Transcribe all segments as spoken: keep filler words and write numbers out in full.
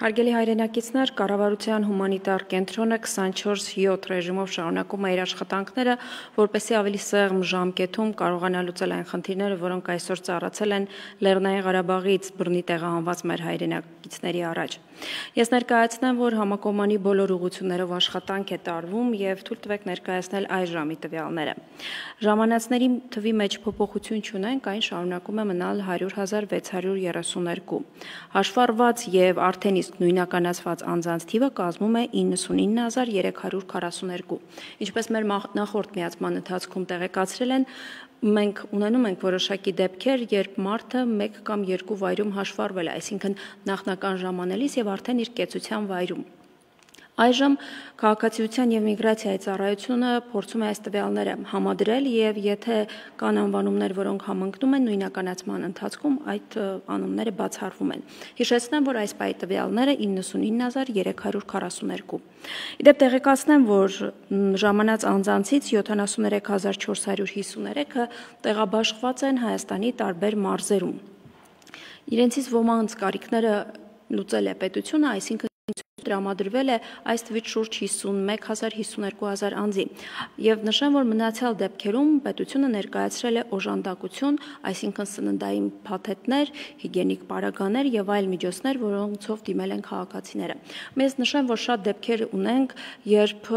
Հարգելի հայրենակիցներ, կառավարության հումանիտար կենտրոնը քսանչորս յոթ ռեժիմով շարունակում է իր աշխատանքները, որպեսզի ավելի սեղմ ժամկետում կարողանա լուծել այն խնդիրները, որոնք այսօր ծառացել են Լեռնային Ղարաբաղից բռնի տեղահանված մեր հայրենակիցների առաջ։ Ես ներկայացնեմ, որ համակողմանի բոլոր ուղղություններով աշխատանք է տարվում եւ թույլ տվեք ներկայացնել այս ժամի տվյալները։ Ժամանածների թվի մեջ փոփոխություն չունենք, այն շարունակում է մնալ հարյուր հազար վեց հարյուր երեսունհինգ։ Հաշվառված եւ արդեն իսկ նույնականացված անձանց թիվը կազմում է իննսունինը հազար երեք հարյուր քառասունհինգ։ Ինչպես մեր նախորդ միացման ընթացքում տեղեկացրել են, մենք ունենում ենք որոշակի դեպքեր, երբ մարդը մեկ կամ երկու վայրում հաշվառվել է, այսինքն նախնական ժամանելիս եւ արդեն իր կեցության վայրում։ Այժմ քաղաքացիության եւ միգրացիայի ծառայությունը փորձում է այս տվյալները համադրել եւ եթե կան անվանումներ, որոնք համընկնում են նույնականացման ընթացքում, այդ անունները բացառվում են։ Հիշեցնեմ, որ այս պահի տվյալները իննսունինը հազար երեք հարյուր քառասունհինգ։ Իդեպ տեղեկացնեմ, որ ժամանած անձանցից յոթանասուններեք հազար չորս հարյուր հիսուններեքը տեղաբաշխված են Հայաստանի տարբեր մարզերում։ Իրենցից ոմանց կարիքները լուծել է պետությունը, այսինքն տրամադրվել է այս թվից շուրջ հիսունմեկ հազար հիսունհինգ հազար անձի եւ նշեմ, որ մնացյալ դեպքերում պետությունը ներկայացրել է օժանդակություն, այսինքն սննդային փաթեթներ, հիգիենիկ պարագաներ եւ այլ միջոցներ, որոնցով դիմել են քաղաքացիները։ Մեզ նշեմ, որ շատ դեպքեր ունենք, երբ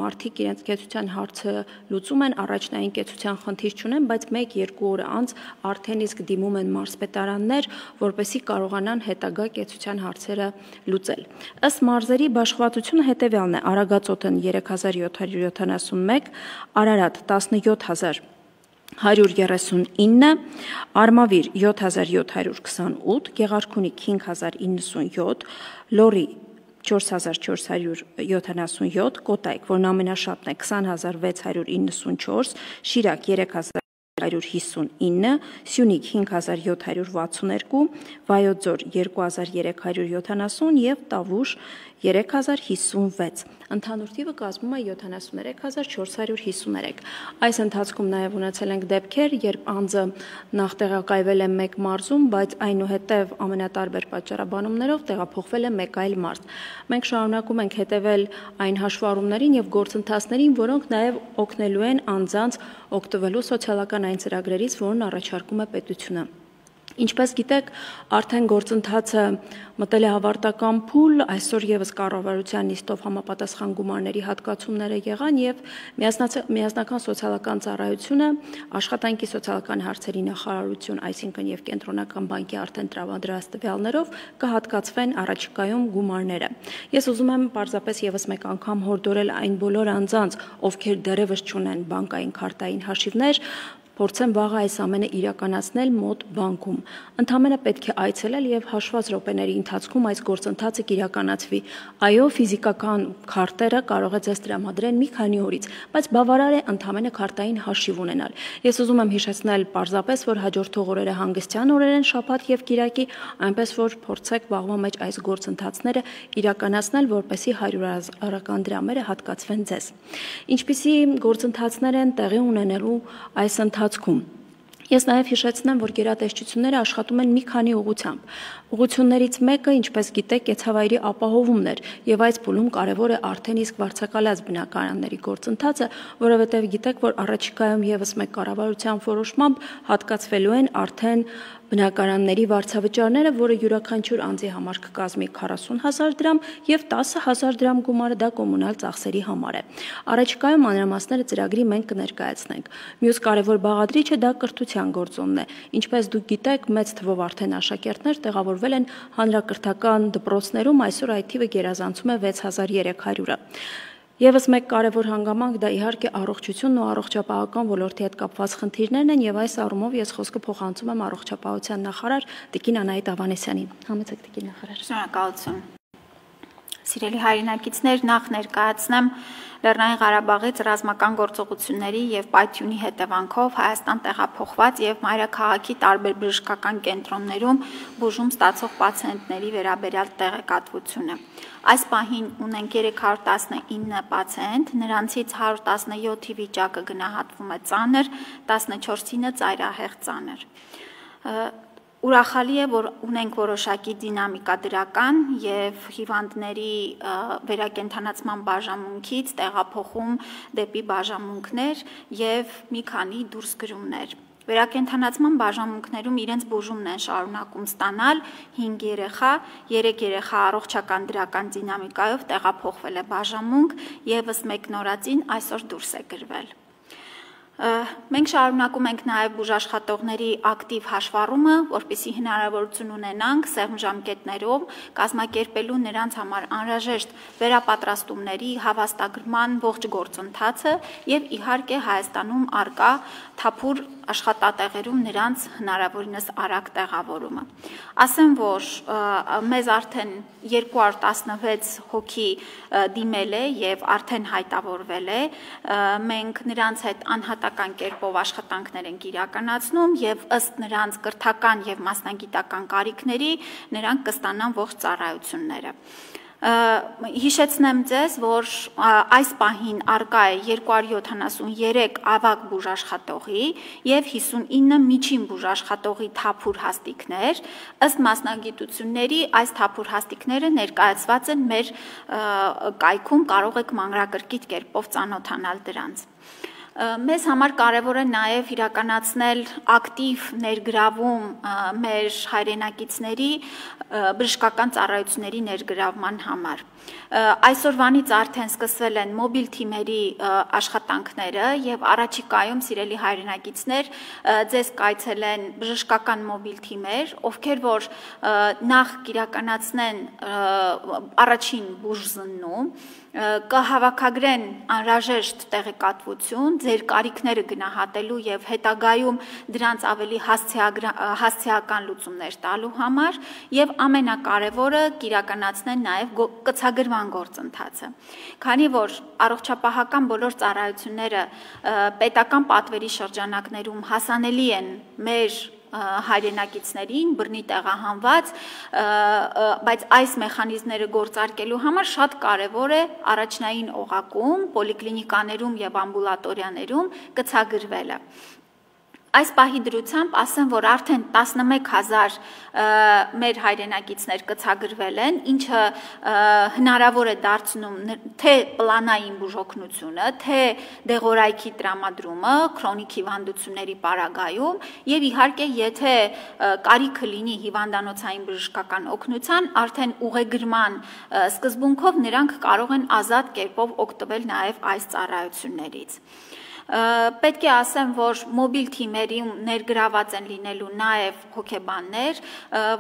մարդիկ իրենց կեցության հարցը լուծում են, առաջնային կեցության խնդիր չունեն, բայց մեկ-երկու օր անց արդեն իսկ դիմում են մարզպետարաններ, որպեսզի կարողանան հետագա կեցության հարցերը լուծել։ Ըստ մարզերի բաշխվածությունը հետևյալն է. Արագածոտնը երեք հազար յոթ հարյուր յոթանասունմեկ, Արարատ տասնյոթ հազար հարյուր երեսունինը, Արմավիր յոթ հազար յոթ հարյուր քսանութ, Գեղարքունիք հինգ հազար իննսունյոթ, Լոռի չորս հազար չորս հարյուր յոթանասունյոթ, Կոտայք, որն ամենաշատն է քսան հազար վեց հարյուր իննսունչորս, Շիրակ երեք հազար հարյուր հիսունինը, Սյունիք հինգ հազար յոթ հարյուր վաթսունհինգ, Վայոց Ձոր երկու հազար երեք հարյուր յոթանասուն եւ Տավուշ երեք հազար հիսունվեց։ Ընդհանուր թիվը կազմում է յոթանասուններեք հազար չորս հարյուր հիսուներեք։ Այս ընթացքում նաև ունեցել ենք դեպքեր, երբ անձը նախ տեղակայվել է մեկ մարզում, բայց այնուհետև ամենատարբեր պատճառաբանումներով տեղափոխվել է մեկ այլ մարզ։ Մենք շարունակում ենք հետևել այն հաշվառումներին եւ գործընթացներին, որոնք նաև օգնելու են անձանց օգտվելու սոցիալական այն ծրագրերից, որն առաջարկում է պետությունը։ Ինչպես գիտեք, արդեն գործընթացը մտել է հավարտական փուլ, այսօր եւս կառավարության նիստով համապատասխան գումարների հատկացումները եղան եւ միասնական սոցիալական ծառայությունը, աշխատանքի սոցիալական հարցերի նախարարություն, այսինքն եւ կենտրոնական բանկի արդեն տրամադրած տվյալներով կհատկացվեն առաջիկայում գումարները։ Ես ուզում եմ պարզապես եւս մեկ անգամ հորդորել այն բոլոր անձանց, ովքեր դեռևս չունեն բանկային քարտային հաշիվներ, փորձեն վաղը այս ամենը իրականացնել մոտ բանկում։ Ընդհանրապես պետք է այցելել եւ հաշված րոպեների ընթացքում այս գործընթացը կիրականացվի։ Այո, ֆիզիկական քարտերը կարող է ձեզ տրամադրեն մի քանի օրից, բայց բավարար է ընդհանրապես քարտային հաշիվ ունենալ։ Ես ուզում եմ հիշեցնել պարզապես, որ հաջորդող օրերը հանգստյան օրեր են, շաբաթ եւ կիրակի, այնպես որ փորձեք վաղվա մեջ այս գործընթացները իրականացնել, որպեսզի հարյուրարական դրամերը հատկացվեն ձեզ։ Ինչպիսի գործընթացներ են տեղի ունենալու այս ընթացքում։ Ես նաև հիշեցնեմ, որ գերատեսչությունները աշխատում են մի քանի ուղղությամբ։ Ուղղություններից մեկը, ինչպես գիտեք, կեցավայրի ապահովումն էր, եւ այս փուլում կարևոր է արդեն իսկ վարձակալած բնակարանների գործընթացը, որովհետեւ գիտեք, որ առաջիկայում եւս մեկ կառավարության որոշմամբ հատկացվելու են արդեն բնակարանների վարձավճարները, որը յուրաքանչյուր անձի համար կկազմի քառասուն հազար դրամ եւ տասը հազար դրամ գումարը դա կոմունալ ծախսերի համար է։ Առաջիկայում մանրամասները ծրագրի մենք կներկայացնենք։ Մյուս կարևոր բաղադրիչը դա կրթության գործոնն է։ Ինչպես դուք գիտեք, մեծ թվով արդեն աշակերտներ տեղավորվել են հանրակրթական դպրոցներում, այսօր այդ թիվը գերազանցում է վեց հազար երեք հարյուրը։ Եվս մեկ կարևոր հանգամանք դա իհարկե առողջությունն ու առողջապահական ոլորտի հետ կապված խնդիրներն են եւ այս առումով ես խոսքը փոխանցում եմ առողջապահության նախարար Տիկին Անահիտ Ավանեսյանին։ Համեցեք Տիկին նախարար։ Շնորհակալություն։ Սիրելի հայրենակիցներ, նախ ներկայացնեմ Լեռնային Ղարաբաղից ռազմական գործողությունների եւ պայթյունի հետևանքով Հայաստան տեղափոխված եւ մայրաքաղաքի տարբեր բժշկական կենտրոններում բուժում ստացող պացիենտների վերաբերյալ տեղեկատվությունը։ Այս պահին ունենք երեք հարյուր տասնինը պացիենտ, նրանցից հարյուր տասնյոթի վիճակը գնահատվում է ծանր, տասնչորսինը ծայրահեղ ծանր։ Ուրախալի է, որ ունենք որոշակի դինամիկա դրական եւ հիվանդների վերակենդանացման բաժանմունքից տեղափոխում դեպի բաժանմունքներ եւ մի քանի դուրսգրումներ։ Վերակենդանացման բաժանմունքներում իրենց բուժումն են շարունակում ստանալ հինգ երեխա, երեք երեխա առողջական դրական դինամիկայով տեղափոխվել է բաժանմունք եւ ըստ մեկնորածին այսօր դուրս է գրվել։ Մենք շարունակում ենք նաև բուժաշխատողների ակտիվ հաշվառումը, որպեսզի հնարավորություն ունենանք սեղմ ժամկետներով կազմակերպելու նրանց համար անհրաժեշտ վերապատրաստումների հավաստագրման ողջ գործընթացը եւ իհարկե Հայաստանում արկա թափուր աշխատատեղերում նրանց հնարավորինս արագ տեղավորումը։ Ասեմ, որ մեզ արդեն երկու հարյուր տասնվեց հոգի դիմել է եւ արդեն հայտավորվել է, մենք նրանց հետ անհատական կերպով աշխատանքներ ենք իրականացնում եւ ըստ նրանց կրթական եւ մասնագիտական կարիքների նրանք կստանան ողջ ծառայությունները։ Հիշեցնեմ ձեզ, որ այս պահին արկա է երկու հարյուր յոթանասուններեք ավագ բուժաշխատողի եւ հիսունինը միջին բուժաշխատողի թափուր հաստիկներ, ըստ մասնագիտությունների այս թափուր հաստիկները ներկայացված են մեր կայքում, կարող եք մանրակրկիտ կերպով ծանոթանալ դրանց։ Մեզ համար կարևոր է նաև իրականացնել ակտիվ ներգրավում մեր հայրենակիցների բժշկական ծառայությունների ներգրավման համար։ Այսօրվանից արդեն սկսվել են մոբիլ թիմերի աշխատանքները եւ առաջիկայում սիրելի հայրենակիցներ ձեզ կայցելեն բժշկական մոբիլ թիմեր, ովքեր որ նախ կիրականացնեն առաջին բուժզննում, կհավաքագրեն անհրաժեշտ տեղեկատվություն, ձեր կարիքները գնահատելու եւ հետագայում դրանց ավելի հասցեական լուծումներ տալու համար եւ ամենակարևորը կիրականացնեն նաեւ կցագրման գործընթացը։ Քանի որ առողջապահական բոլոր ծառայությունները պետական պատվերի շրջանակներում հասանելի են մեր հայրենակիցներին բռնի տեղահանված, բայց այս մեխանիզմները գործարկելու համար շատ կարևոր է առաջնային օղակում, պոլիկլինիկաներում եւ ամբուլատորիաներում կցագրվելը։ Այս պահի դրությամբ ասեմ, որ արդեն տասնմեկ հազար մեր հայրենակիցներ կցագրվել են, ինչը հնարավոր է դարձնում թե պլանային բուժօգնությունը, թե դեղորայքի տրամադրումը, քրոնիկ հիվանդությունների պարագայում եւ իհարկե եթե կարիքը լինի հիվանդանոցային բժշկական օգնության, արդեն ուղեգրման սկզբունքով նրանք կարող են ազատ կերպով օգտվել նաեւ այս ծառայություններից։ Պետք է ասեմ, որ մոբիլ թիմերում ներգրաված են լինելու նաև հոգեբաններ,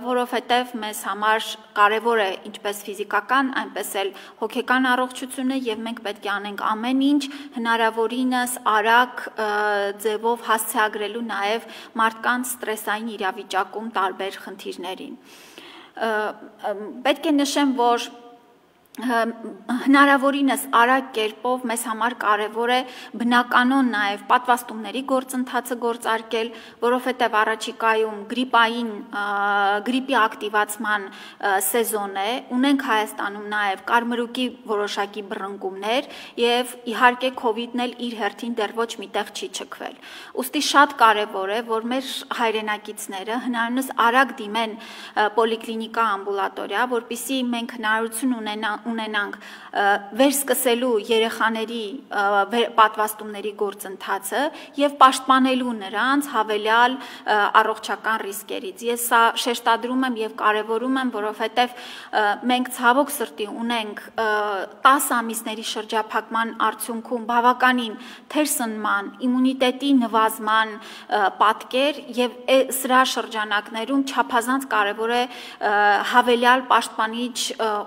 որովհետև մեզ համար կարևոր է ինչպես ֆիզիկական, այնպես էլ հոգեկան առողջությունը եւ մենք պետք է անենք ամեն ինչ հնարավորինս արագ ձևով հասցեագրելու նաև մարդկանց ստրեսային իրավիճակում տարբեր խնդիրներին։ Պետք է նշեմ, որ հնարավորինս արագ կերպով մեզ համար կարևոր է բնականon նաև պատվաստումների գործընթացը գործարկել, որովհետև առաջիկայում գրիպային գրիպի ակտիվացման սեզոն է, ունենք Հայաստանում նաև կարմրուկի որոշակի բռնկումներ եւ իհարկե COVID-ն էլ իր հերթին դեռ ոչ միտեղ չի չքվել։ Ուստի շատ կարևոր է, որ մեր հայրենակիցները հնարավորինս արագ դիմեն պոլիկլինիկա ամբուլատորիա, որպեսզի մենք հնարավորություն ունենանք ունենանք վերսկսելու երեխաների պատվաստումների գործընթացը եւ պաշտպանելու նրանց հավելյալ առողջական ռիսկերից։ Ես սա շեշտադրում եմ եւ կարեւորում եմ, որովհետեւ մենք ցավոք սրտի ունենք տասը ամիսների շրջափակման արդյունքում բավականին թերսնման, իմունիտետի նվազման պատկեր եւ սրա շրջանակներում չափազանց կարեւոր է հավելյալ պաշտպանիչ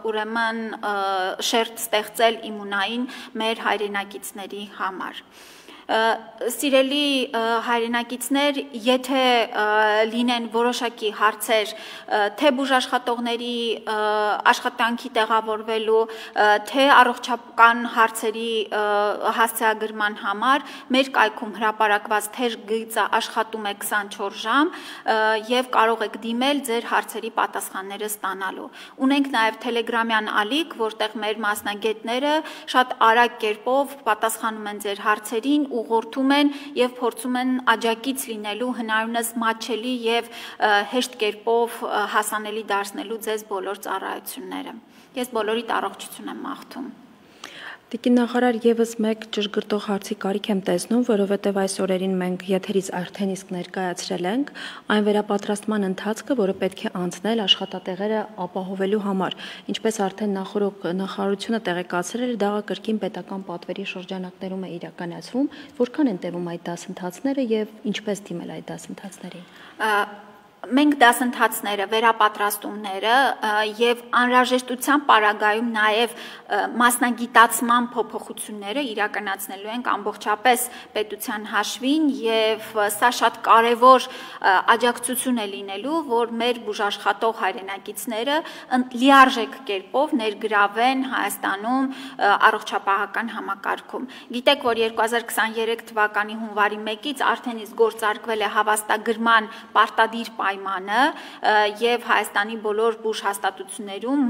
ուրեմն շերտ ստեղծել իմունային մեր հայրենակիցների համար։ Սիրելի հայրենակիցներ, եթե լինեն որոշակի հարցեր, թե բուժաշխատողների աշխատանքի տեղավորվելու, թե առողջական հարցերի հասցեագրման համար, մեր կայքում հրապարակված թեժ գիծը աշխատում է քսանչորս ժամ եւ կարող եք դիմել ձեր հարցերի պատասխանները ստանալու։ Ունենք նաեւ Telegram-յան ալիք, որտեղ մեր մասնագետները շատ արագ կերպով պատասխանում են ձեր հարցերին ուղղորդում են եւ փորձում են աջակից լինելու հնարինս մատչելի եւ հեշտ կերպով հասանելի դարձնելու ձեզ բոլոր ծառայությունները։ Ես բոլորիդ առողջություն եմ մաղթում։ Տիկին նախարար, եւս մեկ ճշգրտող հարցի կարիք եմ տեսնում, որովհետև այս օրերին մենք եթերից արդեն իսկ ներկայացրել ենք այն վերապատրաստման ընթացքը, որը պետք է անցնել աշխատատեղերը ապահովելու համար։ Ինչպես արդեն նախորդ նախարարությունը տեղեկացրել է, դա կրկին պետական պատվերի շրջանակներում է իրականացվում, որքան են տևում այդ դասընթացները եւ ինչպես դիմել այդ դասընթացներին։ Մենք դասընթացները, վերապատրաստումները եւ անհրաժեշտության պարագայում նաեւ մասնագիտացման փոփոխությունները իրականացնելու ենք ամբողջապես պետության հաշվին եւ սա շատ կարեւոր աջակցություն է լինելու, որ մեր բուժաշխատող հայրենակիցները լիարժեք կերպով ներգրավեն Հայաստանում առողջապահական համակարգում։ Գիտեք, որ երկու հազար քսաներեք թվականի հունվարի մեկից արդեն իսկ գործարկվել է հավաստագրման պարտադիր պայմանը եւ Հայաստանի բոլոր բուժ հաստատություններում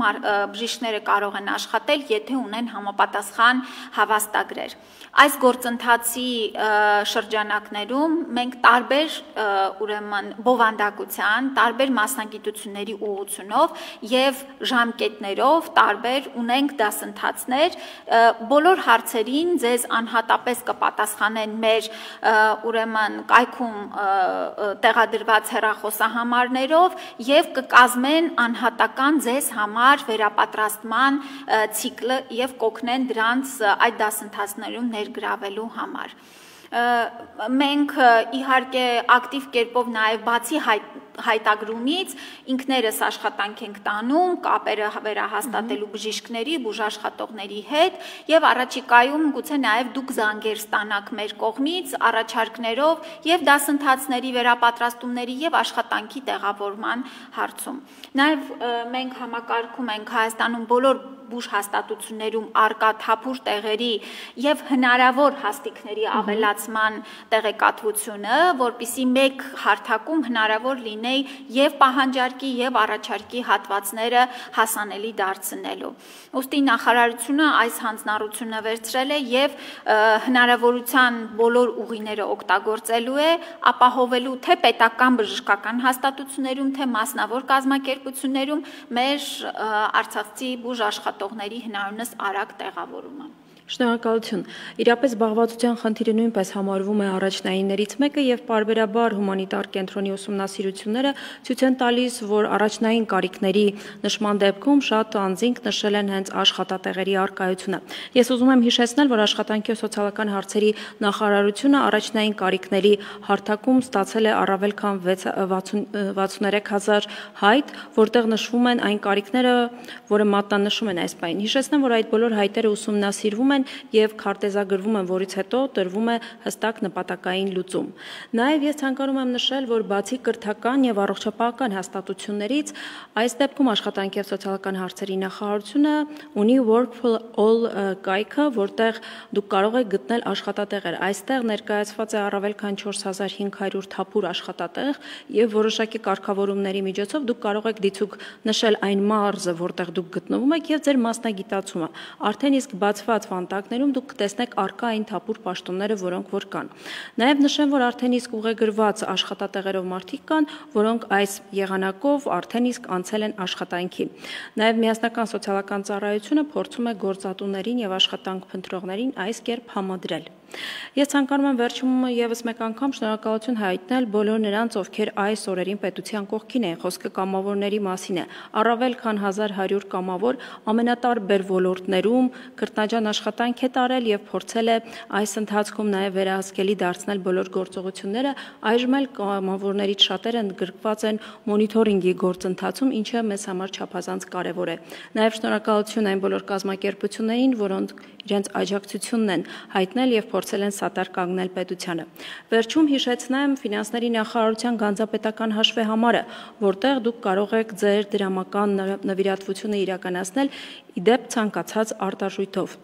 բժիշկները կարող են աշխատել, եթե ունեն համապատասխան հավաստագրեր։ Այս գործընթացի շրջանակներում մենք տարբեր ուրեմն բովանդակության, տարբեր մասնագիտությունների ուղղությունով եւ ժամկետներով տարբեր ունենք դասընթացներ, բոլոր հարցերին ձեզ անհատապես կպատասխանեն մեր ուրեմն կայքում տեղադրված հեռախոսահամարներով եւ կկազմեն անհատական ձեզ համար վերապատրաստման ցիկլը եւ կօգնեն դրանց այդ դասընթացներում ներգրավելու համար։ Մենք իհարկե ակտիվ կերպով նաեւ բացի հայտ հայտագրումից ինքներս աշխատանք ենք տանում կապերը վերահաստատելու բժիշկների, բուժաշխատողների հետ եւ առաջիկայում գուցե նաեւ դուք զանգեր ստանաք մեր կողմից առաջարկներով եւ դասընթացների վերապատրաստումների եւ աշխատանքի տեղավորման հարցում։ Նաեւ մենք համակարգում ենք Հայաստանում բոլոր բուժ հաստատություններում արկա թափուր տեղերի եւ հնարավոր հաստիկների ավելացման տեղեկատվությունը, որպիսի մեկ հարթակում հնարավոր լինի եւ պահանջարկի եւ առաջարկի հատվածները հասանելի դարձնելու։ Ուստի նախարարությունը այս հանձնառությունը վերցրել է եւ հնարավորության բոլոր ուղիները օգտագործելու է, ապահովելու թե պետական բժշկական հաստատություններում, թե մասնավոր կազմակերպություններում մեր արցախցի բուժ աշխատողների հնարինս արագ տեղավորումը։ Շնորհակալություն։ Իրապես զբաղվածության խնդիրը նույնպես համարվում է առաջնայիններից մեկը եւ պարբերաբար հումանիտար կենտրոնի ուսումնասիրությունները ցույց են տալիս, որ առաջնային կարիքների նշման դեպքում շատ անձինք նշել են հենց աշխատատեղերի առկայությունը։ Ես ուզում եմ հիշեցնել, որ աշխատանքի ու սոցիալական հարցերի նախարարությունը առաջնային կարիքների հարթակում ստացել է առավել քան վաթսունութ հազար հայտ, որտեղ նշվում են այն կարիքները, որը մատնանշում են այս պահին։ Հիշեցնեմ, որ այդ բոլոր հայտերը ուսումնասիրվում են եւ քարտեզագրվում են, որից հետո տրվում է հստակ նպատակային լուծում։ Նաեւ ես ցանկանում եմ նշել, որ բացի կրթական եւ առողջապահական հաստատություններից, այս դեպքում աշխատանքի եւ սոցիալական հարցերի նախարարությունը ունի Work for All կայքը, որտեղ դուք կարող եք գտնել աշխատատեղեր։ Այստեղ ներկայացված է առավել քան չորս հազար հինգ հարյուր թափուր աշխատատեղ եւ որոշակի կարգավորումների միջոցով դուք կարող եք դիցուք նշել այն մարզը, որտեղ դուք գտնվում եք եւ ձեր մասնագիտացումը։ Արդեն իսկ բացված վանտակներում դուք կտեսնեք առկա այն թափուր պաշտոնները, որոնք որ կան։ Նաև նշեմ, որ արդեն իսկ ուղեգրված աշխատատեղերով մարդիկ կան, որոնք այս եղանակով արդեն իսկ անցել են աշխատանքի։ Նաև միասնական սոցիալական ծառայությունը փորձում է գործատուներին եւ աշխատանք փնտրողներին այս կերպ համադրել։ Ես ցանկանում եմ վերջում եւս մեկ անգամ շնորհակալություն հայտնել բոլոր նրանց, ովքեր այս օրերին պետության կողքին են, խոսքը կամավորների մասին է։ Առավել քան հազար հարյուր կամավոր ամենատարբեր ոլորտներում քրտնաջան աշխատանք է տարել եւ փորձել է այս ընթացքում նաեւ վերահսկելի դարձնել բոլոր գործողությունները։ Այժմ էլ կամավորներից շատերը ընդգրկված են մոնիթորինգի գործընթացում, ինչը մեզ համար չափազանց կարեւոր է։ Նաեւ շնորհակալություն այն բոլոր կազմակերպություններին, որոնք իրենց աջակցությունն են հայտնել եւ փորձել են սատար կանգնել պետությանը։ Վերջում հիշեցնեմ ֆինանսների նախարարության գանձապետական հաշվեհամարը, որտեղ դուք կարող եք ձեր դրամական նվիրատվությունը իրականացնել իդեպ ցանկացած արտարժույթով։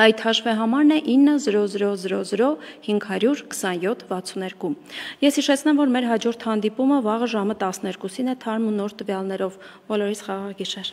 Այդ հաշվեհամարն է ինը զրո զրո զրո զրո հինգ հարյուր քսանյոթ վաթսուններկու։ Ես հիշեցնեմ, որ մեր հաջորդ հանդիպումը վաղը ժամը տասներկուսին է թարմ ու նոր տվյալներով։ Բոլորիս խաղաղ գիշեր։